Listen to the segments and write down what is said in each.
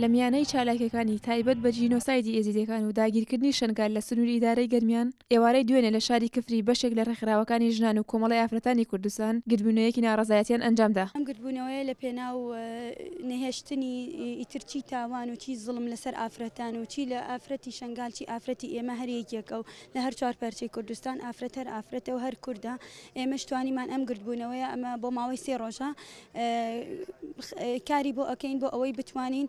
لە میانەی چالاکیەکانی تایبەت بە جینۆسایدی ئێزیدیەکان و داگیرکردنی شەنگال لە سنوری ئیدارەی گەرمیان، ئێوارەی دوێنێ لە شاری کفری بەشێک لە ڕێکخراوەکانی ژنان و کۆمەڵەی ئافرەتانی کوردستان گردبوونەوەیەکی ناڕەزایەتیان ئەنجامدا. ئەم گردبوونەوەیە لە پێناو نەهێشتنی ئیتر چی تاوان و چی زوڵم لەسەر ئافرەتان و چی لە ئافرەتی شەنگال چی ئافرەتی ئێمە هەر یەکێکە و لە هەر چوار پارچەی کوردستان ئافرەت هەر ئافرەتە و هەر کوردە ئێمەش توانیمان ئەم گردبوونەوەیە ئەمە بۆ ماوەی سێ ڕۆژە کاری بۆ ئەکەین بۆ ئەوەی بتوانین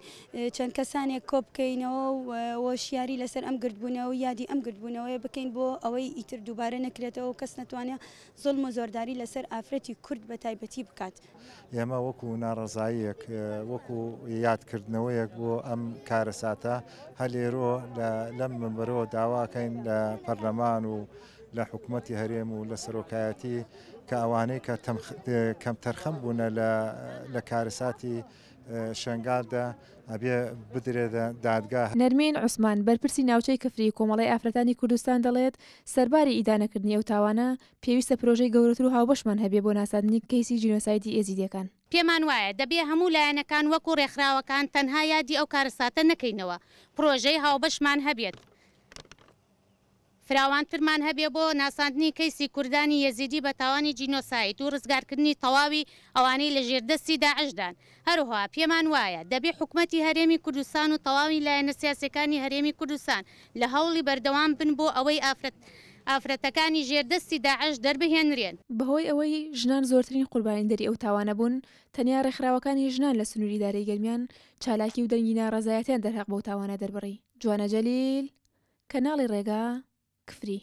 چەند کەسانێک کۆبکەینەوە و هۆشیاری لەسەر ئەم گردبوونەوە و یادی ئەم گردبوونەوەیە بکەین بۆ ئەوەی ئیتر دووبارە نەکرێتەوە و کەس نەتوانێت زوڵم و زۆرداری لەسەر ئافرەتی کورد بە تایبەتی بکات. ئێمە وەکو ناڕەزاییەک، وەکو یادکردنەوەیەک بۆ ئەم کارەساتە هەر لێرۆ لەم مەنبەرەوە داواکەین لە پەرلەمان و لە حکومەتی هەرێم و لە سەرۆکایەتی کە ئەوانەی کە کەمتەرخەم بوونە لە کارەساتی شەنگالدا ئەبێ بدرێتە دادگا. نەرمین عوسمان، بەرپرسی ناوچەی کفری کۆمەڵەی ئافرەتانی کوردستان دەڵێت، سەرباری ئیدانەکردنی ئەو تاوانە، پێویستە پرۆژەی گەورەتر و هاوبەشمان هەبێ بۆ ناساندنی کەیسی جینۆسایدی ئێزیدیەکان. پێمان وایە دەبێ هەموو لایەنەکان وەکو رێکخراوەکان تەنها یادی ئەو کارەساتە نەکەینەوە، پرۆژەی هاوبەشمان هەبێت. فراوانترمان هەبێ بۆ ناساندنی کەیسی کوردانی یەزیدی بە تاوانی جینۆساید و رزگارکردنی تەواوی ئەوانەی لە ژێر دەستی داعشدان. هەروها پێمان وایە دەبێ حکومەتی هەرێمی کوردستان و تەواوی لایەنە سیاسیەکانی هەرێمی کوردستان لە هەوڵی بەردەوام بن بۆ ئەوەی ئافرەت ئافرەتەکانی ژێر دەستی داعش دەربهێنرێن. بەهۆی ئەوەی ژنان زۆرترین قوربانیدەری ئەو تاوانە بوون، تەنیا رێکخراوەکانی ژنان لە سنووری ئیدارەی گەرمیان چالاکی و دەنگی ناڕەزایەتیان دەرهەق بەو تاوانە دەربڕی. جوانە جەلیل، کەناڵی ڕێگا، کفری.